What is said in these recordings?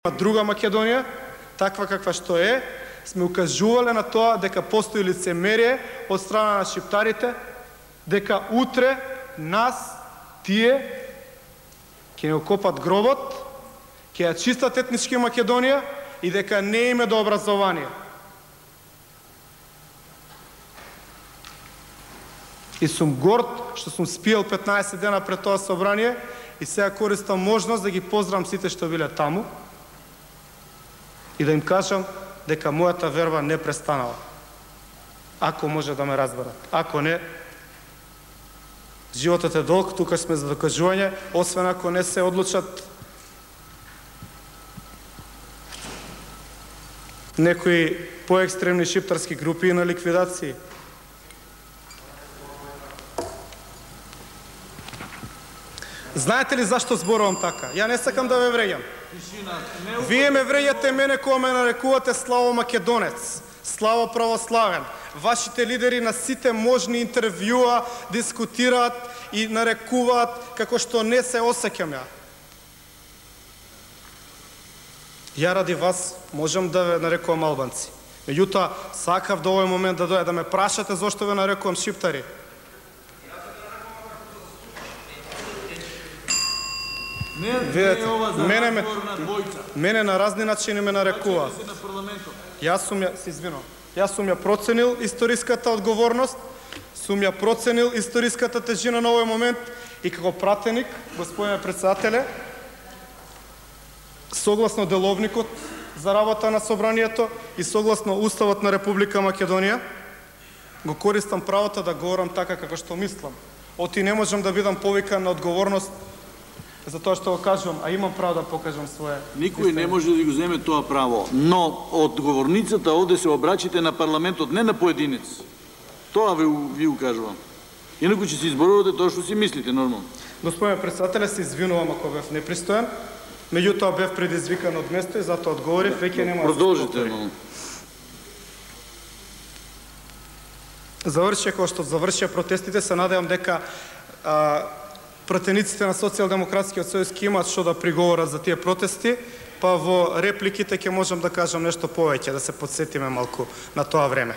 друга Македонија, таква каква што е, сме укажувале на тоа дека постои лицемерие од страна на шиптарите, дека утре нас, тие, ќе не окопат гробот, ќе ја чистат етнички Македонија и дека не име до образование. И сум горд што сум спиел 15 дена пред тоа собрание и сега користам можност да ги поздравам сите што биле таму и да им кажам дека мојата верба не престанала. Ако може да ме разберат. Ако не, животот е долг, тука сме за докажување, освен ако не се одлучат некои поекстремни шиптарски групи на ликвидации. Знаете ли зашто зборувам така? Ја не сакам да ве вреѓам. Вие ме вреѓате мене кога ме нарекувате Славо Македонец, Славо православен. Вашите лидери на сите можни интервјуа дискутираат и нарекуваат како што не се осеќам ја. Ја ради вас можам да ве нарекувам албанци. Меѓутоа, сакав до овој момент да дојде да ме прашате зошто ве нарекувам шиптари. Мене на разни начини ме нарекува. Јас сум ја проценил историската одговорност, сум ја проценил историската тежина на овој момент и како пратеник, господине председателе, согласно деловникот за работа на собранието и согласно Уставот на Република Македонија, го користам правото да говорам така како што мислам. Оти не можам да бидам повикан на одговорност за тоа што го кажувам, а имам право да покажам свое. Никој не може да го земе тоа право, но одговорницата овде се обрачите на парламентот, не на поединец. Тоа ви укажувам. Инаку ќе се изборувате тоа што си мислите нормално. Господине председателе, се извинувам ако бев непристоен, меѓутоа бев предизвикан од место и затоа одговорив, веќе нема. Продолжите. Завршија како што завршија протестите, се надевам дека пратениците на Социјалдемократскиот сојуз ќе имаат што да приговорат за тие протести, па во репликите ќе можам да кажам нешто повеќе, да се подсетиме малку на тоа време.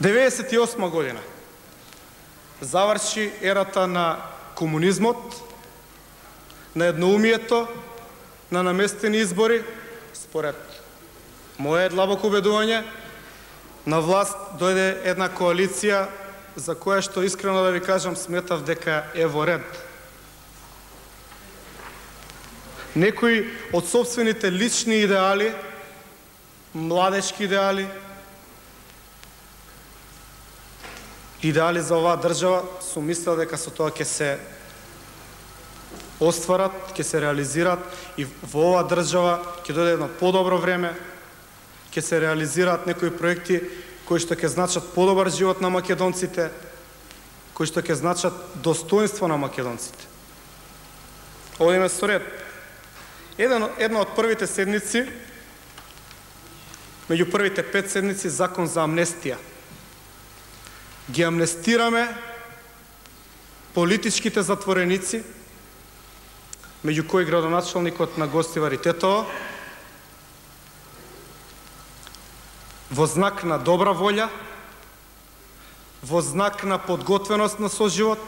98 година заврши ерата на комунизмот, на едноумието, на наместени избори, според моје длабоко убедување, на власт дојде една коалиција за која што искрено да ви кажам сметав дека е во ред. Некои од собствените лични идеали, младечки идеали, идеали за оваа држава, сум мислел дека со тоа ќе се остварат, ќе се реализираат и во оваа држава ќе дојде едно подобро време, ќе се реализираат некои проекти кои што ќе значат подобар живот на македонците, кои што ќе значат достоинство на македонците. Одиме со ред. Една од првите седници, меѓу првите 5 седници, закон за амнестија. Ги амнестираме политичките затвореници, меѓу кои градоначалникот на Гостивар и Тетово, во знак на добра волја, во знак на подготвеност на соживот,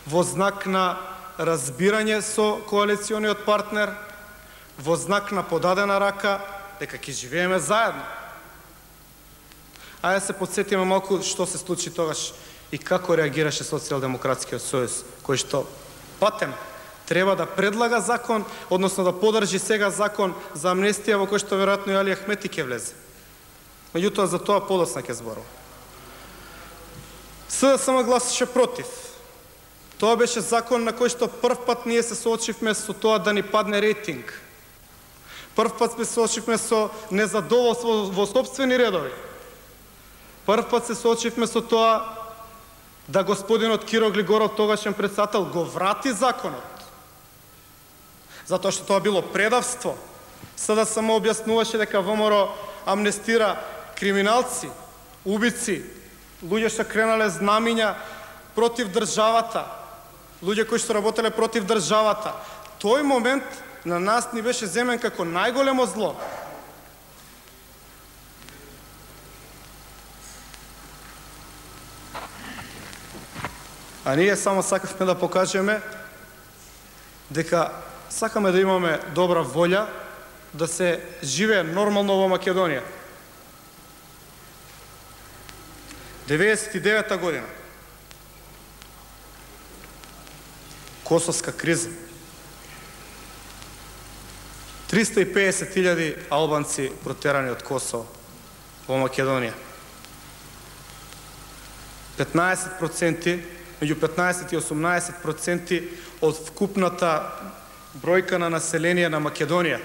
во знак на разбирање со коалициониот партнер, во знак на подадена рака дека ќе живееме заедно. Ајде се подсетиме малку што се случи тогаш и како реагираше Социјалдемократскиот сојуз, кој што патем треба да предлага закон, односно да подржи сега закон за амнестија во кој што веројатно и Али Ахмети ќе влезе. Меѓутоа за тоа подоцна ќе зборувам. СДСМ гласаше против. Тоа беше закон на кој што прв пат ние се соочивме со тоа да ни падне рейтинг. Прв пат се соочивме со незадоволство во сопствени редови. Прв пат се соочивме со тоа да господинот Киро Глигоров, тогашен председател, го врати законот. Затоа што тоа било предавство. СДСМ објаснуваше дека ВМРО амнестира криминалци, убици, луѓе што кренале знамиња против државата, луѓе кои што работеле против државата. тој момент на нас ни беше земен како најголемо зло. А ние само сакавме да покажеме дека сакаме да имаме добра волја да се живее нормално во Македонија. 99-та година. Косовска криза. 350.000 албанци протерани од Косово во Македонија. 15%, меѓу 15 и 18% од вкупната бројка на население на Македонија,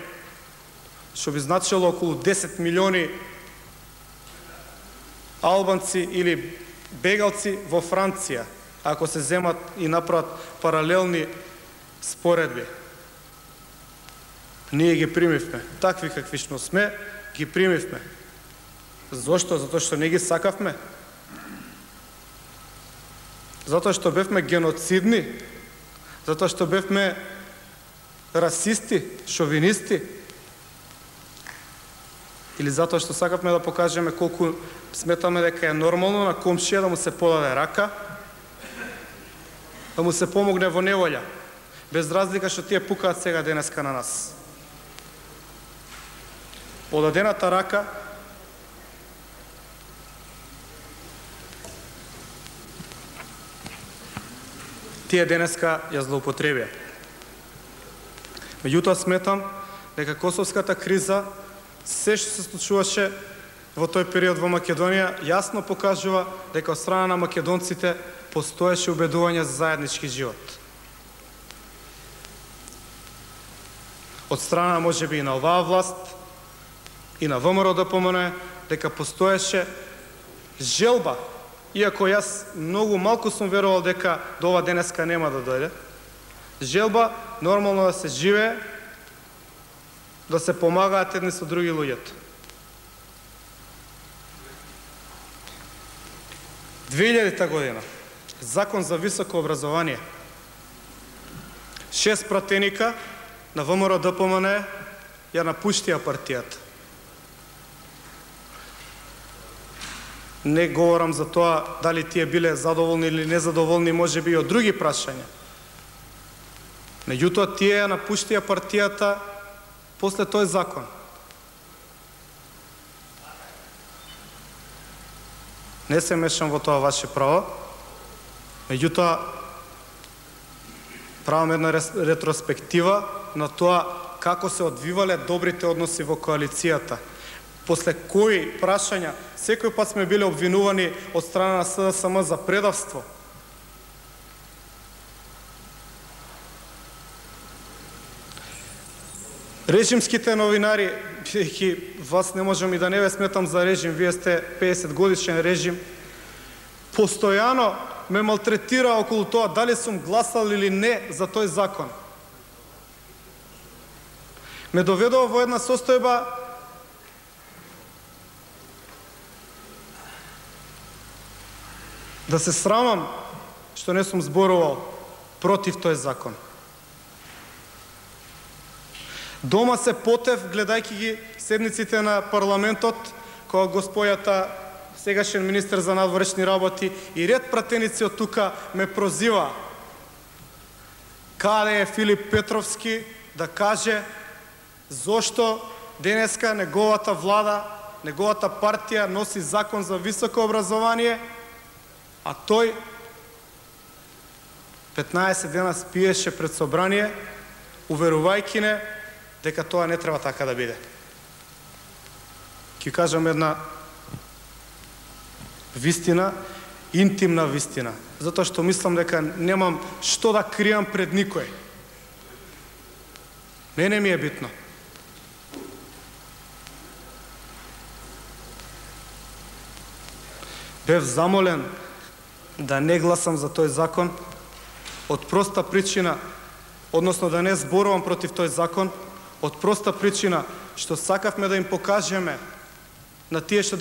што би значило околу 10 милиони албанци или бегалци во Франција, ако се земат и направат паралелни споредби. Ние ги примивме. Такви каквишно сме, ги примивме. Зошто? Затоа што не ги сакавме? Затоа што бевме геноцидни? Затоа што бевме расисти, шовинисти? Или затоа што сакавме да покажеме колку сметаме дека е нормално на комшија да му се подаде рака, да му се помогне во неволја, без разлика што тие пукаат сега денеска на нас. Подадената рака тие денеска ја злоупотребија. Меѓутоа сметам дека косовската криза, се што се случуваше во тој период во Македонија, јасно покажува дека од страна на македонците постоеше убедување за заеднички живот. Од страна можеби и на оваа власт и на ВМРО-ДПМН дека постоеше желба, иако јас многу малку сум верувал дека до ова денеска нема да дојде, желба нормално да се живее, да се помагаат едни со други луѓето. 2000-та година, Закон за високо образование. 6 пратеника на ВМРО-ДПМН ја напуштија партијата. Не говорам за тоа дали тие биле задоволни или незадоволни, можеби и од други прашања. Меѓутоа, тие ја напуштија партијата после тој закон. Не се мешам во тоа ваше право, меѓутоа, правам една ретроспектива на тоа како се одвивале добрите односи во коалицијата. После кои прашања секој пат сме биле обвинувани од страна на СДСМ за предавство. Режимските новинари, бидејќи вас не можам и да не ве сметам за режим, вие сте 50 годишен режим, постојано ме малтретира околу тоа дали сум гласал или не за тој закон. Ме доведува во една состојба да се срамам што не сум зборувал против тој закон. Дома се потев, гледајќи ги седниците на парламентот, кога госпојата, сегашен министер за надворешни работи и ред пратеници од тука ме прозива каде е Филип Петровски да каже зошто денеска неговата влада, неговата партија носи закон за високо образование, а тој 15 дена спиеше пред собрание, уверувајќи не дека тоа не треба така да биде. Ќе кажам една вистина, интимна вистина, затоа што мислам дека немам што да кријам пред никој. Мене ми е битно. Бев замолен да не гласам за тој закон од проста причина, односно да не зборувам против тој закон, од проста причина што сакавме да им покажеме на тие што